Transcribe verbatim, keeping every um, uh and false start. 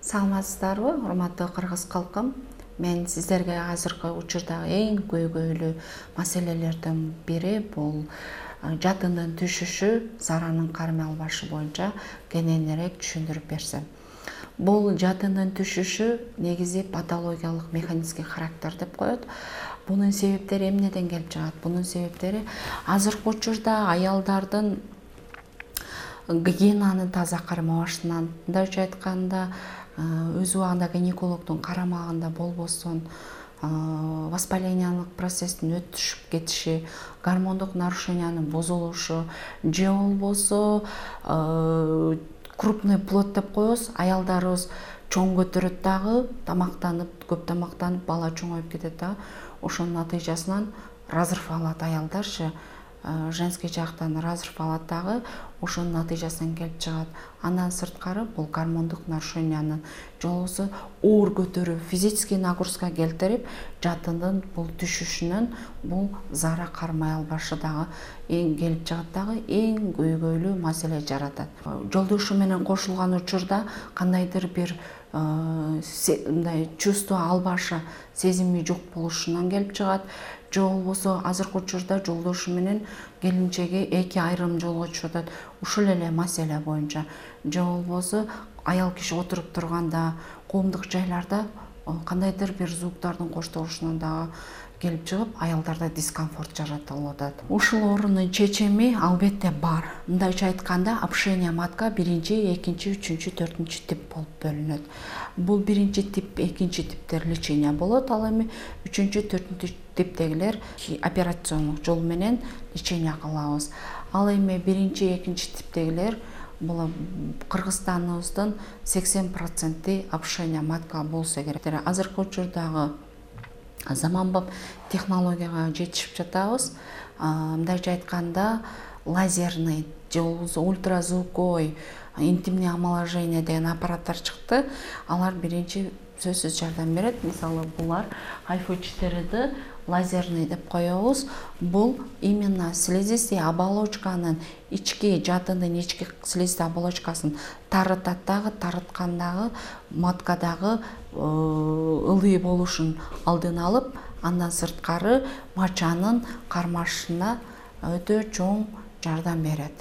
Саламатсыздарбы, урматтуу кыргыз калкым? Мен сиздерге азыркы учурдагы эң көйгөйлүү маселелердин бири бул жадындын түшүшү, заранын кармай албашы боюнча кененирээк түшүндүрүп берсем. Бул жадындын түшүшү негизи патологиялык механизмге характер деп коет. Бунун себептери эмнеден келип чыгат? Бунун себептери азыркы учурда аялдардын гигиенаны таза кармабашынан, мындайча айтканда, өз убагында гинекологдун карамагында болбосун, воспалениялык процесстин өтүшүп кетиши, гормондук нарушениянын бузулушу же болбосо крупный плод деп коебуз. Аялдарыбыз чоң көтөрөт дагы, тамактанып, көп тамактанып, бала чоңоюп кетет дагы. Ошонун натыйжасынан разрыв алат аялдарчы, женский жактан разрыв алат дагы, ошонун натыйжасынан келип чыгат. Андан сырткары бул гормондук нарушениянын же болбосо оор көтөрүү, физический нагрузка келтирип, жадындын бул түшүшүнөн бул зара кармай албашы дагы эң келип чыгат дагы эң көйгөйлүү маселе жаратат. Жолдошу менен кошулган учурда кандайдыр бир мындай чувство албашы, сезими жок болушунан келип чыгат. Же болбосо азыркы учурда жолдошу менен келинчеги эки айрым жолго чыгып атат ушул эле маселе боюнча. Же болбосо аял киши отуруп турганда, коомдук жайларда кандайдыр бир звуктардын коштолушунан дагы келип чыгып, аялдарда дискомфорт жаратылып атат. Ушул оорунун чечими албетте бар. Мындайча айтканда, опушение матка биринчи, экинчи, үчүнчү, төртүнчү тип болуп бөлүнөт. Бул биринчи тип, экинчи типтер лечение болот. Ал эми үчүнчү, төртүнчү типтегилер операциондук жол менен лечение кылабыз. Ал эми биринчи, экинчи типтегилер бул Кыргызстаныбыздын сексен проценти опушение матка болсо керек. Азыркы учурдагы заманбап технологияга жетишип жатабыз. Мындайча айтканда, лазерный же болбосо ультразвуковой интимный омоложение деген аппараттар чыкты. Алар биринчи сөзсүз жардам берет. Мисалы, булар айфо четыре лазерный деп коебуз. Бул именно слизистый оболочканын ички, жадындын ички слизистый оболочкасын тарытат дагы, тарыткандагы маткадагы ылый болушун алдын алып, андан сырткары мачанын кармашына өтө чоң жардам берет.